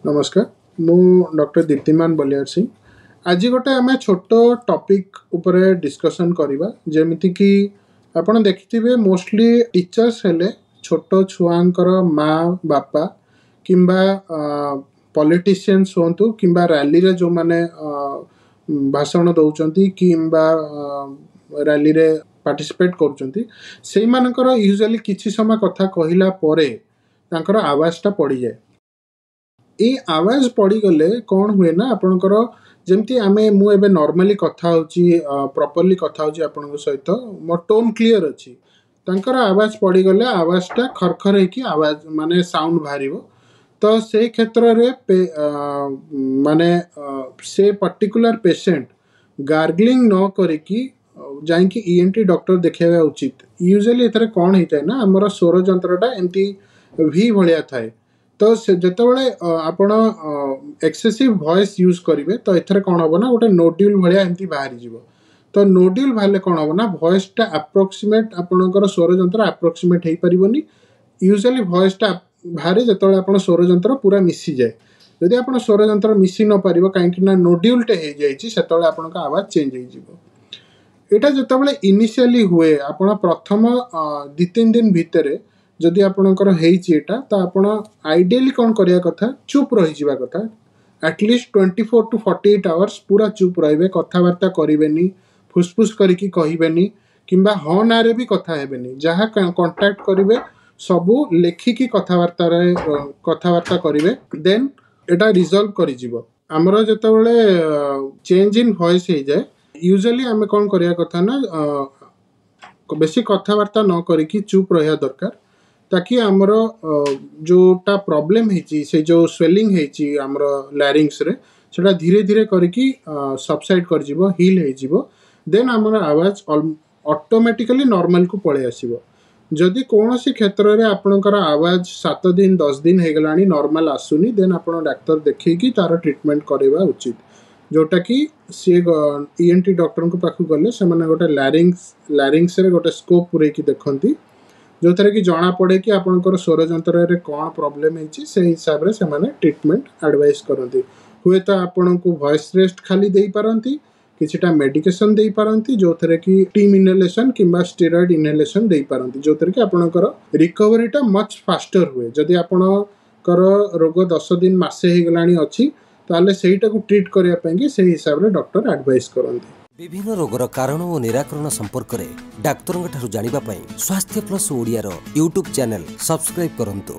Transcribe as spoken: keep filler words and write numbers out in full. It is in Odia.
ନମସ୍କାର ମୁଁ ଡକ୍ଟର ଦୀପ୍ତିମାନ ବଲିଆର ସିଂ ଆଜି ଗୋଟେ ଆମେ ଛୋଟ ଟପିକ୍ ଉପରେ ଡିସ୍କସନ୍ କରିବା ଯେମିତିକି ଆପଣ ଦେଖିଥିବେ ମୋଷ୍ଟଲି ଟିଚର୍ସ ହେଲେ ଛୋଟ ଛୁଆଙ୍କର ମା ବାପା କିମ୍ବା ପଲିଟିସିଆନ୍ସ ହୁଅନ୍ତୁ କିମ୍ବା ରାଲିରେ ଯେଉଁମାନେ ଭାଷଣ ଦେଉଛନ୍ତି କିମ୍ବା ରାଲିରେ ପାର୍ଟିସିପେଟ୍ କରୁଛନ୍ତି ସେଇମାନଙ୍କର ୟୁଜୁଆଲି କିଛି ସମୟ କଥା କହିଲା ପରେ ତାଙ୍କର ଆୱାଜଟା ପଡ଼ିଯାଏ ଏଇ ଆୱାଜ ପଡ଼ିଗଲେ କ'ଣ ହୁଏ ନା ଆପଣଙ୍କର ଯେମିତି ଆମେ ମୁଁ ଏବେ ନର୍ମାଲି କଥା ହେଉଛି ପ୍ରପରଲି କଥା ହେଉଛି ଆପଣଙ୍କ ସହିତ ମୋ ଟୋନ୍ କ୍ଲିଅର୍ ଅଛି ତାଙ୍କର ଆୱାଜ ପଡ଼ିଗଲେ ଆୱାଜଟା ଖରଖର ହେଇକି ଆୱାଜ ମାନେ ସାଉଣ୍ଡ ବାହାରିବ ତ ସେ କ୍ଷେତ୍ରରେ ମାନେ ସେ ପର୍ଟିକୁଲାର ପେସେଣ୍ଟ ଗାର୍ଗଲିଂ ନ କରିକି ଯାଇକି ଇ ଏନ୍ ଟି ଡକ୍ଟର ଦେଖାଇବା ଉଚିତ ୟୁଜୁଆଲି ଏଥିରେ କ'ଣ ହେଇଥାଏ ନା ଆମର ସ୍ୱର ଯନ୍ତ୍ରଟା ଏମିତି ଭି ଭଳିଆ ଥାଏ ତ ସେ ଯେତେବେଳେ ଆପଣ ଏକ୍ସେସିଭ୍ ଭଏସ୍ ୟୁଜ୍ କରିବେ ତ ଏଥିରେ କ'ଣ ହେବ ନା ଗୋଟେ ନୋଡ୍ୟୁଲ୍ ଭଳିଆ ଏମିତି ବାହାରିଯିବ ତ ନୋଡ୍ୟୁଲ୍ ବାହାରିଲେ କ'ଣ ହେବ ନା ଭଏସ୍ଟା ଆପ୍ରୋକ୍ସିମେଟ୍ ଆପଣଙ୍କର ସ୍ୱର ଯନ୍ତ୍ର ଆପ୍ରୋକ୍ସିମେଟ୍ ହେଇପାରିବନି ୟୁଜୁଆଲି ଭଏସ୍ଟା ବାହାରେ ଯେତେବେଳେ ଆପଣ ସ୍ୱର ଯନ୍ତ୍ର ପୁରା ମିଶିଯାଏ ଯଦି ଆପଣ ସ୍ୱର ଯନ୍ତ୍ର ମିଶି ନ ପାରିବ କାହିଁକି ନା ନୋଡ୍ୟୁଲ୍ଟେ ହେଇଯାଇଛି ସେତେବେଳେ ଆପଣଙ୍କ ଆୱାଜ ଚେଞ୍ଜ ହେଇଯିବ ଏଇଟା ଯେତେବେଳେ ଇନିସିଆଲି ହୁଏ ଆପଣ ପ୍ରଥମ ଦୁଇ ତିନି ଦିନ ଭିତରେ ଯଦି ଆପଣଙ୍କର ହେଇଛି ଏଇଟା ତ ଆପଣ ଆଇଡ଼ିଆଲି କ'ଣ କରିବା କଥା ଚୁପ୍ ରହିଯିବା କଥା at least twenty four to forty eight hours ପୁରା ଚୁପ୍ ରହିବେ କଥାବାର୍ତ୍ତା କରିବେନି ଫୁସଫୁସ୍ କରିକି କହିବେନି କିମ୍ବା ହଁ ନାଁରେ ବି କଥା ହେବେନି ଯାହା କଣ୍ଟାକ୍ଟ କରିବେ ସବୁ ଲେଖିକି କଥାବାର୍ତ୍ତାରେ କଥାବାର୍ତ୍ତା କରିବେ ଦେନ୍ ଏଇଟା ରିଜଲ୍ଭ କରିଯିବ ଆମର ଯେତେବେଳେ ଚେଞ୍ଜ ଇନ୍ ଭଏସ୍ ହେଇଯାଏ ୟୁଜୁଆଲି ଆମେ କ'ଣ କରିବା କଥା ନା ବେଶୀ କଥାବାର୍ତ୍ତା ନ କରିକି ଚୁପ୍ ରହିବା ଦରକାର ତାକି ଆମର ଯେଉଁଟା ପ୍ରୋବ୍ଲେମ୍ ହେଇଛି ସେ ଯେଉଁ ସ୍ୱେଲିଂ ହେଇଛି ଆମର ଲାରିଙ୍ଗସରେ ସେଟା ଧୀରେ ଧୀରେ କରିକି ସବସାଇଡ଼ କରିଯିବ ହିଲ୍ ହେଇଯିବ ଦେନ୍ ଆମର ଆୱାଜ ଅଟୋମେଟିକାଲି ନର୍ମାଲକୁ ପଳେଇ ଆସିବ ଯଦି କୌଣସି କ୍ଷେତ୍ରରେ ଆପଣଙ୍କର ଆୱାଜ ସାତ ଦିନ ଦଶ ଦିନ ହେଇଗଲାଣି ନର୍ମାଲ ଆସୁନି ଦେନ୍ ଆପଣ ଡାକ୍ତର ଦେଖେଇକି ତାର ଟ୍ରିଟମେଣ୍ଟ କରିବା ଉଚିତ ଯେଉଁଟାକି ସିଏ ଇ ଏନ୍ ଟି ଡକ୍ଟରଙ୍କ ପାଖକୁ ଗଲେ ସେମାନେ ଗୋଟେ ଲାରିଙ୍ଗସ ଲାରିଙ୍ଗସରେ ଗୋଟେ ସ୍କୋପ୍ ପୁରେଇକି ଦେଖନ୍ତି ଯେଉଁଥିରେ କି ଜଣାପଡ଼େ କି ଆପଣଙ୍କର ସ୍ୱର ଯନ୍ତ୍ରରେ କ'ଣ ପ୍ରୋବ୍ଲେମ୍ ହେଇଛି ସେଇ ହିସାବରେ ସେମାନେ ଟ୍ରିଟମେଣ୍ଟ ଆଡ଼ଭାଇସ୍ କରନ୍ତି ହୁଏତ ଆପଣଙ୍କୁ ଭଏସ୍ ରେଷ୍ଟ ଖାଲି ଦେଇପାରନ୍ତି କିଛିଟା ମେଡ଼ିକେସନ୍ ଦେଇପାରନ୍ତି ଯେଉଁଥିରେ କି ଷ୍ଟିମ୍ ଇନହେଲେସନ୍ କିମ୍ବା ଷ୍ଟେରଏଡ଼ ଇନହେଲେସନ୍ ଦେଇପାରନ୍ତି ଯେଉଁଥିରେ କି ଆପଣଙ୍କର ରିକଭରିଟା ମଚ୍ ଫାଷ୍ଟର ହୁଏ ଯଦି ଆପଣଙ୍କର ରୋଗ ଦଶ ଦିନ ମାସେ ହେଇଗଲାଣି ଅଛି ତାହେଲେ ସେଇଟାକୁ ଟ୍ରିଟ୍ କରିବା ପାଇଁକି ସେଇ ହିସାବରେ ଡକ୍ଟର ଆଡ଼ଭାଇସ୍ କରନ୍ତି ବିଭିନ୍ନ ରୋଗର କାରଣ ଓ ନିରାକରଣ ସମ୍ପର୍କରେ ଡାକ୍ତରଙ୍କ ଠାରୁ ଜାଣିବା ପାଇଁ ସ୍ୱାସ୍ଥ୍ୟ ପ୍ଲସ୍ ଓଡ଼ିଆର ୟୁଟ୍ୟୁବ୍ ଚ୍ୟାନେଲ୍ ସବସ୍କ୍ରାଇବ୍ କରନ୍ତୁ